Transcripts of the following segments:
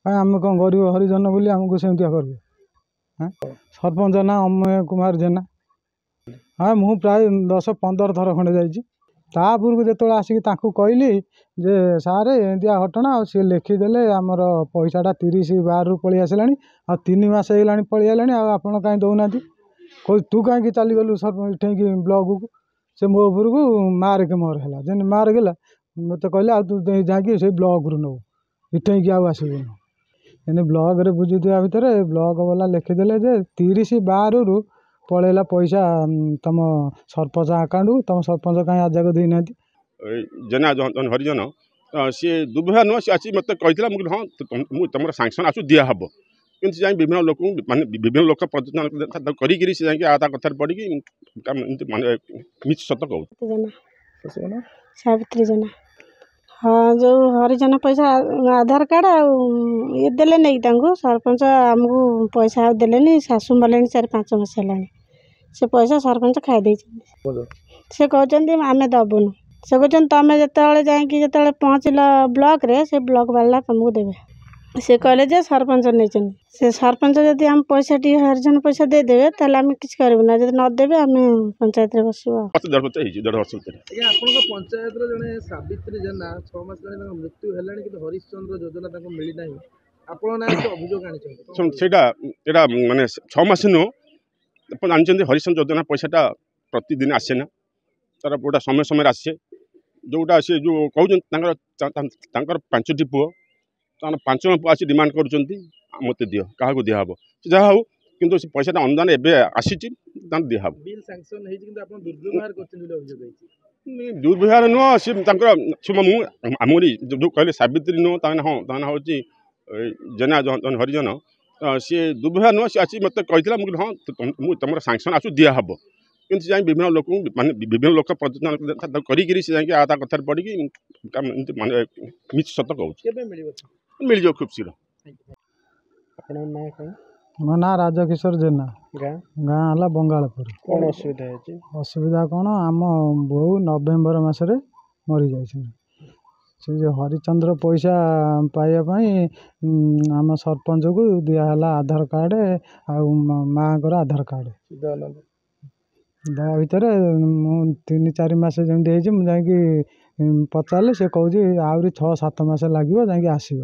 କାଇଁ ଆମେ କ'ଣ ଗରିବ ହରିଜନ ବୋଲି ଆମକୁ ସେମିତିଆ କରିବେ? ସରପଞ୍ଚ ନାଁ ଅମୟ କୁମାର ଜେନା। ହଁ, ମୁଁ ପ୍ରାୟ 10-15 ଥର ଖଣ୍ଡେ ଯାଇଛି। ତାପରକୁ ଯେତେବେଳେ ଆସିକି ତାଙ୍କୁ କହିଲି ଯେ ସାର୍ ଏମିତିଆ ଘଟଣା, ଆଉ ସିଏ ଲେଖିଦେଲେ ଆମର ପଇସାଟା 30/12ରୁ ପଳେଇ ଆସିଲାଣି, ଆଉ 3 ମାସ ହେଇଗଲାଣି ପଳେଇ ଆଇଲାଣି, ଆଉ ଆପଣ କାହିଁ ଦେଉନାହାନ୍ତି? କହୁଛି ତୁ କାହିଁକି ଚାଲିଗଲୁ ଏଠେଇକି ବ୍ଲକକୁ? ସେ ମୋ ଉପରକୁ ମାରକେ ମୋର ହେଲା। ଯେମିତି ମାରକ ହେଲା, ମୋତେ କହିଲେ ଆଉ ତୁ ଯାଇକି ସେଇ ବ୍ଲକରୁ ନେବୁ, ଏଠେଇକି ଆଉ ଆସିବୁନି। ଏମିତି ବ୍ଲକରେ ବୁଝୁଥିବା ଭିତରେ ବ୍ଲକ ବାଲା ଲେଖିଦେଲେ ଯେ 30/12ରୁ ପଳେଇଲା ପଇସା ତୁମ ସରପଞ୍ଚ ଆକାଉଣ୍ଟକୁ, ତୁମ ସରପଞ୍ଚ କାହିଁ ଆଜି ଯାକ ଦେଇନାହାନ୍ତି। ଜେନା ହରିଜନ ସିଏ ଦୁର୍ବ୍ୟବହାର ନୁହଁ, ସିଏ ଆସି ମୋତେ କହିଥିଲା। ମୁଁ କହିଲି ହଁ, ମୁଁ ତୁମର ସାଙ୍ଗସନ୍ ଆସୁ ଦିଆହେବ। କିନ୍ତୁ ଯାଇ ବିଭିନ୍ନ ଲୋକଙ୍କୁ ମାନେ ବିଭିନ୍ନ ଲୋକ କରିକିରି ସେ ଯାଇକି ତା କଥାରେ ପଡ଼ିକି ଏମିତି ମାନେ ମିଛ ସତ କହୁଛି। ସାବିତ୍ରୀ ଜେନା। ହଁ, ଯେଉଁ ହରିଜନ ପଇସା ଆଧାର କାର୍ଡ଼ ଆଉ ଇଏ ଦେଲେ ନେଇକି ତାଙ୍କୁ, ସରପଞ୍ଚ ଆମକୁ ପଇସା ଆଉ ଦେଲେନି। ଶାଶୁ ମଲେଣି 4-5 ମାସ ହେଲାଣି, ସେ ପଇସା ସରପଞ୍ଚ ଖାଇ ଦେଇଛନ୍ତି। ସେ କହୁଛନ୍ତି ଆମେ ଦେବୁନୁ। ସେ କହୁଛନ୍ତି ତୁମେ ଯେତେବେଳେ ଯାଇକି ଯେତେବେଳେ ପହଞ୍ଚିଲ ବ୍ଲକରେ, ସେ ବ୍ଲକ ବାଲା ତୁମକୁ ଦେବେ। ସେ କହିଲେ ଯେ ସରପଞ୍ଚ ନେଇଛନ୍ତି। ସେ ସରପଞ୍ଚ ଯଦି ଆମ ପଇସା ଟିକେ ହରିଜନ ପଇସା ଦେଇଦେବେ, ତାହେଲେ ଆମେ କିଛି କରିବୁ ନା। ଯଦି ନଦେବେ, ଆମେ ପଞ୍ଚାୟତରେ ବସିବୁ। ଆଉ ଦେଢ଼ ବର୍ଷ ହେଇଛି, ଦେଢ଼ ବର୍ଷ ଭିତରେ। ଆଜ୍ଞା, ଆପଣଙ୍କ ପଞ୍ଚାୟତର ଜଣେ ସାବିତ୍ରୀ ଜେନା 6 ମାସ ହେଲାଣି ତାଙ୍କ ମୃତ୍ୟୁ ହେଲାଣି, କିନ୍ତୁ ହରିଶ୍ଚନ୍ଦ୍ର ଯୋଜନା ତାଙ୍କୁ ମିଳିନାହିଁ। ଆପଣ ନାଁରେ ଅଭିଯୋଗ ଆଣିଛନ୍ତି? ସେଇଟା ଏଇଟା ମାନେ 6 ମାସ ନୁହଁ, ଆପଣ ଜାଣିଛନ୍ତି ହରିଶ୍ଚନ୍ଦ୍ର ଯୋଜନା ପଇସାଟା ପ୍ରତିଦିନ ଆସେ ନା, ତାର ଗୋଟେ ସମୟ ସମୟରେ ଆସେ। ଯେଉଁଟା ସେ ଯେଉଁ କହୁଛନ୍ତି, ତାଙ୍କର 5ଟି ପୁଅ, ତାଙ୍କର 5 ଜଣ ପୁଅ ଆସି ଡିମାଣ୍ଡ କରୁଛନ୍ତି ମୋତେ ଦିଅ, କାହାକୁ ଦିଆହେବ? ସେ ଯାହା ହଉ, କିନ୍ତୁ ସେ ପଇସାଟା ଅନୁଦାନ ଏବେ ଆସିଛି, ତାଙ୍କୁ ଦିଆହେବ। ବିଲ୍ ସାଙ୍କସନ୍ ହେଇଛି, କିନ୍ତୁ ଆପଣ ଦୁର୍ବ୍ୟବହାର କରିଛନ୍ତି ବୋଲି ଅଭିଯୋଗ ହେଇଛି। ଦୁର୍ବ୍ୟବହାର ନୁହଁ, ସେ ତାଙ୍କର ସେ ମୁଁ ଆମରି ଯେଉଁ କହିଲେ ସାବିତ୍ରୀ ନୁହଁ, ତା ହଁ, ତା ନାଁ ହେଉଛି ଜେନା ହରିଜନ। ସିଏ ଦୁର୍ବ୍ୟବହାର ନୁହଁ, ସିଏ ଆସି ମୋତେ କହିଥିଲା। ମୁଁ କହିଲି ହଁ, ମୁଁ ତୁମର ସାଙ୍ଗସନ୍ ଆସୁ ଦିଆହେବ। କିନ୍ତୁ ଯାଇ ବିଭିନ୍ନ ଲୋକଙ୍କୁ ମାନେ ବିଭିନ୍ନ ଲୋକ କରିକିରି ସେ ଯାଇକି ତା କଥାରେ ପଡ଼ିକି ଏମିତି ମାନେ ମିଛ ସତ କହୁଛି। କେବେ ମିଳିବ? ମିଳିଯିବ ଖୁବ୍ ଶୀଘ୍ର। ଆପଣଙ୍କ ନାଁ କ'ଣ? ମୋ ନାଁ ରାଜକିଶୋର ଜେନା। ଗାଁ? ଗାଁ ହେଲା ବଙ୍ଗାଳପୁର। କ'ଣ ଅସୁବିଧା ହେଇଛି? ଅସୁବିଧା କ'ଣ, ଆମ ବୋଉ ନଭେମ୍ବର ମାସରେ ମରିଯାଇଛନ୍ତି। ସେ ଯେଉଁ ହରିଚନ୍ଦ୍ର ପଇସା ପାଇବା ପାଇଁ ଆମ ସରପଞ୍ଚକୁ ଦିଆହେଲା ଆଧାର କାର୍ଡ଼ ଆଉ ମାଆଙ୍କର ଆଧାର କାର୍ଡ଼ ଦେବା ଭିତରେ ମୁଁ 3-4 ମାସ ଯେମିତି ହେଇଛି, ମୁଁ ଯାଇକି ପଚାରିଲି, ସେ କହୁଛି ଆହୁରି 6-7 ମାସ ଲାଗିବ ଯାଇକି ଆସିବ।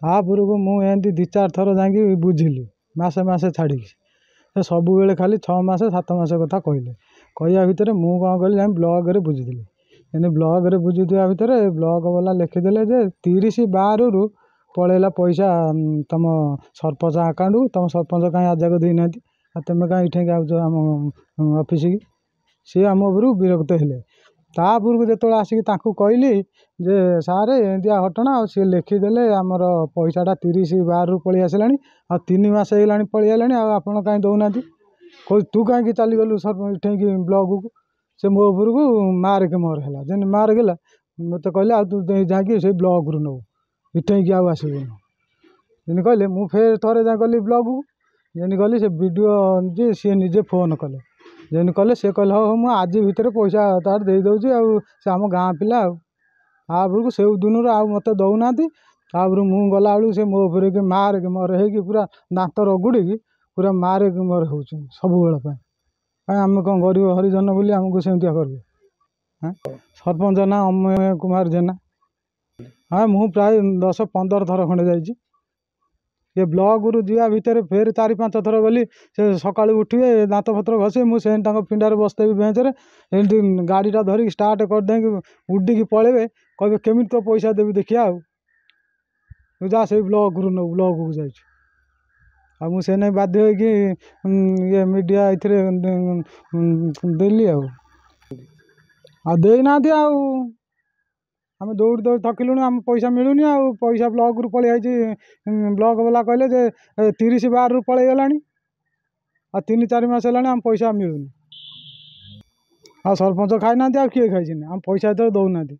ତାପରକୁ ମୁଁ ଏମିତି 2-4 ଥର ଯାଇକି ବୁଝିଲି ମାସେ ମାସେ ଛାଡ଼ିକି, ସେ ସବୁବେଳେ ଖାଲି 6 ମାସ 7 ମାସ କଥା କହିଲେ। କହିବା ଭିତରେ ମୁଁ କ'ଣ କଲି, ଯାଇ ବ୍ଲକରେ ବୁଝିଥିଲି। ଏମିତି ବ୍ଲକରେ ବୁଝୁଥିବା ଭିତରେ ବ୍ଲକ ବାଲା ଲେଖିଦେଲେ ଯେ 30/12ରୁ ପଳେଇଲା ପଇସା ତୁମ ସରପଞ୍ଚ ଆକାଉଣ୍ଟକୁ, ତୁମ ସରପଞ୍ଚ କାହିଁ ଆଜି ଯାକ ଦେଇନାହାନ୍ତି, ଆଉ ତୁମେ କାହିଁ ଏଠେଇକି ଆଉଛ ଆମ ଅଫିସିକି? ସିଏ ଆମ ଉପରକୁ ବିରକ୍ତ ହେଲେ। ତାପରକୁ ଯେତେବେଳେ ଆସିକି ତାଙ୍କୁ କହିଲି ଯେ ସାର୍ ଏମିତିଆ ଘଟଣା, ଆଉ ସିଏ ଲେଖିଦେଲେ ଆମର ପଇସାଟା 30/12ରୁ ପଳେଇ ଆସିଲାଣି, ଆଉ 3 ମାସ ହେଇଗଲାଣି ପଳେଇ ଆଇଲାଣି, ଆଉ ଆପଣ କାହିଁ ଦେଉନାହାନ୍ତି? କହୁଛି ତୁ କାହିଁକି ଚାଲିଗଲୁ ଏଠେଇକି ବ୍ଲକକୁ? ସେ ମୋ ଉପରକୁ ମାରକେ ମୋର ହେଲା। ଯେମିତି ମାରକ ହେଲା, ମୋତେ କହିଲେ ଆଉ ତୁ ଯାଇକି ସେଇ ବ୍ଲକରୁ ନେବୁ, ଏଠେଇକି ଆଉ ଆସିବୁନି। ଯେମିତି କହିଲେ, ମୁଁ ଫେର ଥରେ ଯାଇ ଗଲି ବ୍ଲକକୁ। ଯେମିତି ଗଲି, ସେ ବି ଡ଼ି ଓ ଯେ ସିଏ ନିଜେ ଫୋନ୍ କଲେ। ଯେମିତି କଲେ, ସେ କହିଲେ ହଉ ହଉ, ମୁଁ ଆଜି ଭିତରେ ପଇସା ତାର ଦେଇଦେଉଛି, ଆଉ ସେ ଆମ ଗାଁ ପିଲା। ଆଉ ତାପରକୁ ସେଇ ଦିନରୁ ଆଉ ମୋତେ ଦେଉନାହାନ୍ତି। ତାପରୁ ମୁଁ ଗଲାବେଳକୁ ସେ ମୋ ଉପରେ କି ମାରକେ ମୋର ହେଇକି ପୁରା ଦାନ୍ତ ରଗୁଡ଼ିକି ପୁରା ମାରକେ ମୋର ହେଉଛନ୍ତି ସବୁବେଳ ପାଇଁ। କାଇଁ ଆମେ କ'ଣ ଗରିବ ହରିଜନ ବୋଲି ଆମକୁ ସେମିତିଆ କରିବେ? ସରପଞ୍ଚ ନାଁ ଅମୟ କୁମାର ଜେନା। ହଁ, ମୁଁ ପ୍ରାୟ 10-15 ଥର ଖଣ୍ଡେ ଯାଇଛି। ଏ ବ୍ଲକରୁ ଯିବା ଭିତରେ ଫେର 4-5 ଥର ଗଲି। ସେ ସକାଳୁ ଉଠିବେ, ଦାନ୍ତ ପତ୍ର ଘଷିବେ, ମୁଁ ସେମିତି ତାଙ୍କ ପିଣ୍ଡାରେ ବସିଥିବି ବେଞ୍ଚରେ, ଏମିତି ଗାଡ଼ିଟା ଧରିକି ଷ୍ଟାର୍ଟ କରିଦେଇକି ଉଡ଼ିକି ପଳେଇବେ। କହିବେ କେମିତି ତୋ ପଇସା ଦେବି ଦେଖିବା, ଆଉ ତୁ ଯା ସେଇ ବ୍ଲକରୁ ନେବୁ, ବ୍ଲକକୁ ଯାଇଛୁ। ଆଉ ମୁଁ ସେ ନେଇ ବାଧ୍ୟ ହେଇକି ଇଏ ମିଡ଼ିଆ ଏଥିରେ ଦେଲି। ଆଉ ଦେଇନାହାନ୍ତି। ଆଉ ଆମେ ଦୌଡ଼ି ଦୌଡ଼ି ଥକିଲୁଣି, ଆମ ପଇସା ମିଳୁନି। ଆଉ ପଇସା ବ୍ଲକରୁ ପଳେଇ ଆଇଛି। ବ୍ଲକ ବାଲା କହିଲେ ଯେ 30/12ରୁ ପଳେଇଗଲାଣି, ଆଉ 3-4 ମାସ ହେଲାଣି ଆମ ପଇସା ମିଳୁନି। ଆଉ ସରପଞ୍ଚ ଖାଇନାହାନ୍ତି, ଆଉ କିଏ ଖାଇଛନ୍ତି? ଆମ ପଇସା ଯେତେବେଳେ ଦେଉନାହାନ୍ତି।